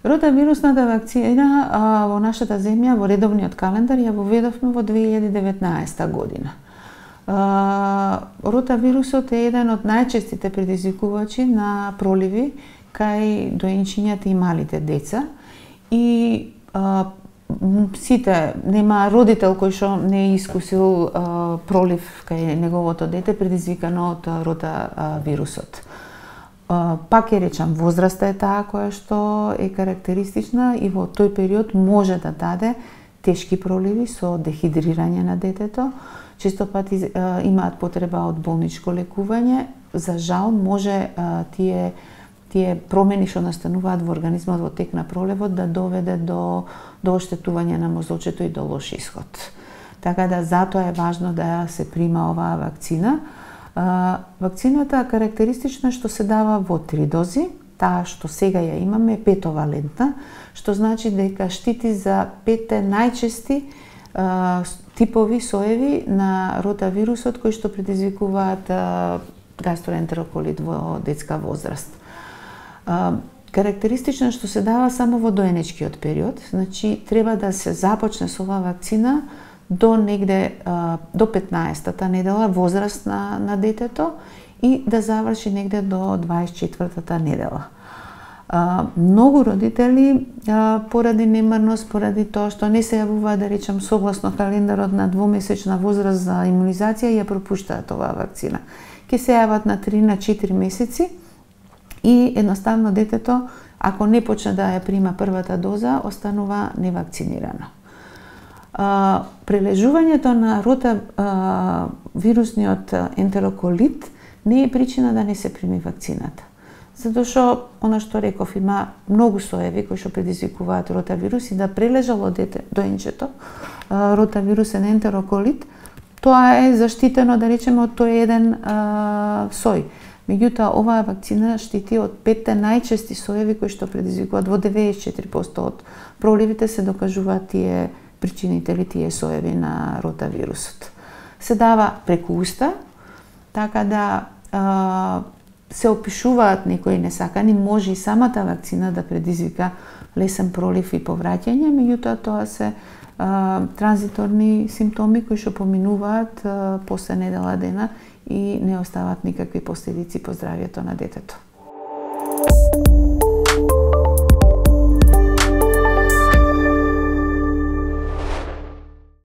Ротавирусната вакцина во нашата земја во редовниот календар ја воведовме во 2019 година. Ротавирусот е еден од најчестите предизвикувачи на проливи кај доенчињата и малите деца и сите, нема родител кој што не е искусил пролив кај неговото дете предизвикано од ротавирусот. Пак ќе речам, возраста е таа која што е карактеристична и во тој период може да даде тешки проливи со дехидрирање на детето. Често пати имаат потреба од болничко лекување. За жал може тие промени што настануваат во организмот во тек на проливот да доведе до оштетување на мозочето и до лош исход. Така да затоа е важно да се прима оваа вакцина. Вакцината карактеристична што се дава во 3 дози. Таа што сега ја имаме е 5-валентна, што значи дека штити за 5 најчести типови соеви на ротавирусот кои што предизвикуваат гастроентероколит во детска возраст. Карактеристично што се дава само во доенечкиот период, значи треба да се започне со оваа вакцина до негде до 15-та недела возраст на детето и да заврши негде до 24-та недела. Многу родители поради немарност, поради тоа што не се јавуваат, да речем, согласно календарот на двомесечна возраст за имунизација, ја пропуштаат оваа вакцина. Ке се јават на 3 на 4 месеци и едноставно детето, ако не почне да ја прима првата доза, останува невакцинирано. Прележувањето на ротавирусниот ентероколит не е причина да не се прими вакцината. Затоа што, она што реков, има многу соеви кои што предизвикуваат ротавирус и да прележало доенчето ротавирусен ентероколит, тоа е заштитено, да речеме, од тој еден сој. Меѓутоа, оваа вакцина штити од 5 најчести соеви кои што предизвикуваат во 94% од проливите се докажуваат тие причинители, тие соеви на ротавирусот. Се дава преку уста, така да се опишуваат некои несакани, може и самата вакцина да предизвика лесен пролив и повраќање, меѓутоа тоа се транзиторни симптоми кои што поминуваат после недела дена и не остават никакви последици по здравјето на детето.